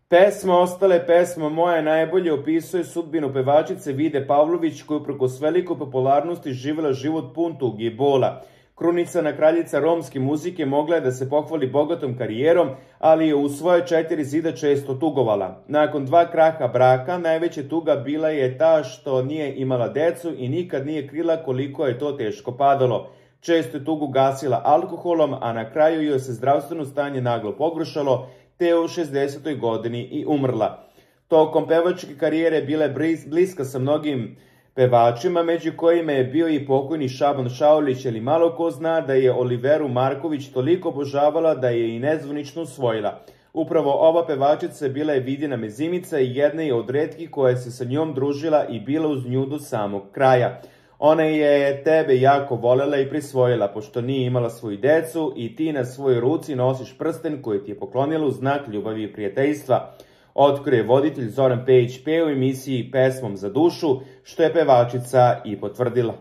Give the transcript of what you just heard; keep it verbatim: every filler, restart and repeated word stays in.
Pesma Ostale pesma moja najbolje opisuje sudbinu pevačice Vide Pavlović, koja uprkos velikoj popularnosti živjela život pun tuge i bola. Krunisana kraljica romske muzike mogla je da se pohvali bogatom karijerom, ali je u svoje četiri zida često tugovala. Nakon dva kraha braka, najveća tuga bila je ta što nije imala decu i nikad nije krila koliko je to teško padalo. Često je tugu gasila alkoholom, a na kraju joj se zdravstveno stanje naglo pogoršalo, te je u šezdesetoj godini i umrla. Tokom pevačke karijere bila je bliska sa mnogim pevačima, među kojima je bio i pokojni Šaban Šaulić, ali malo ko zna da je Oliveru Marković toliko obožavala da je i nezvanično usvojila. Upravo ova pevačica bila je Vidina mezimica i jedna je od retkih koja se sa njom družila i bila uz nju do samog kraja. Ona je tebe jako volela i prisvojila, pošto nije imala svoju decu i ti na svojoj ruci nosiš prsten koji ti je poklonila u znak ljubavi i prijateljstva. Otkrio je voditelj Zoran Pejić P u emisiji Pesmom za dušu, što je pevačica i potvrdila.